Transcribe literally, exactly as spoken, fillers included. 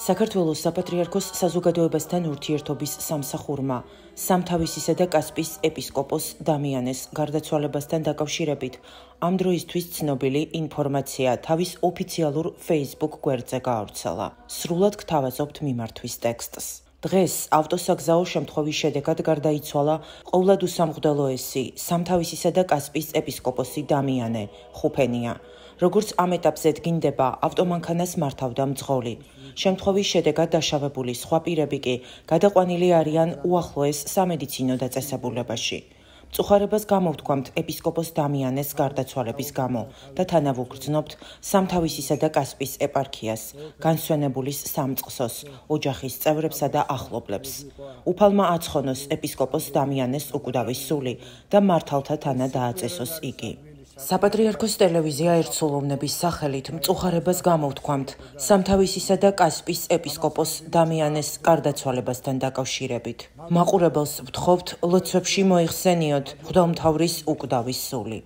საქართველოს საპატრიარქოს საზოგადოებასთან ურთიერთობის სამსახურმა სამთავისისა და კასპიის ეპისკოპოს დამიანეს გარდაცვალებასთან დაკავშირებით ამ დროისთვის ცნობილი ინფორმაცია თავის ოფიციალურ Facebook გვერდზე გაავრცელა. სრულად გთავაზობთ მიმართვის ტექსტს. დღეს ავტოსაგზაო შემთხვევის შედეგად გარდაიცვალა ყოვლადუსამღვდელო ესი სამთავისისა და კასპიის ეპისკოპოსი დამიანე ხუფენია. როგორც ამ ეტაპზე დგინდება, ავტომანქანას მართავდა მძღოლი. შემთხვევის შედეგად დაშავებული სხვა პირები კი გადაყვანილი არიან უახლოეს სამედიცინო დაწესებულებაში. მწუხარებას გამოვთქვამთ ეპისკოპოს დამიანეს გარდაცვალების გამო და თანავუგრძნობთ სამთავისისა და კასპიის ეპარქიას, განსვენებულის სამწყსოს, ოჯახის წევრებსა და ახლობლებს. უფალმა აცხონოს ეპისკოპოს დამიანეს უკვდავის სული და მართალთა თანა დააწესოს იგი. საპატრიარქოს ტელევიზია ერთსულოვნების სახელით მწუხარებას გამოვთქვამთ სამთავისისა და კასპიის ეპისკოპოს დამიანეს გარდაცვალებასთან დაკავშირებით. მაყურებელს ვთხოვთ ლოცვებში მოიხსენიოთ მღვდელმთავრის უკვდავის სული.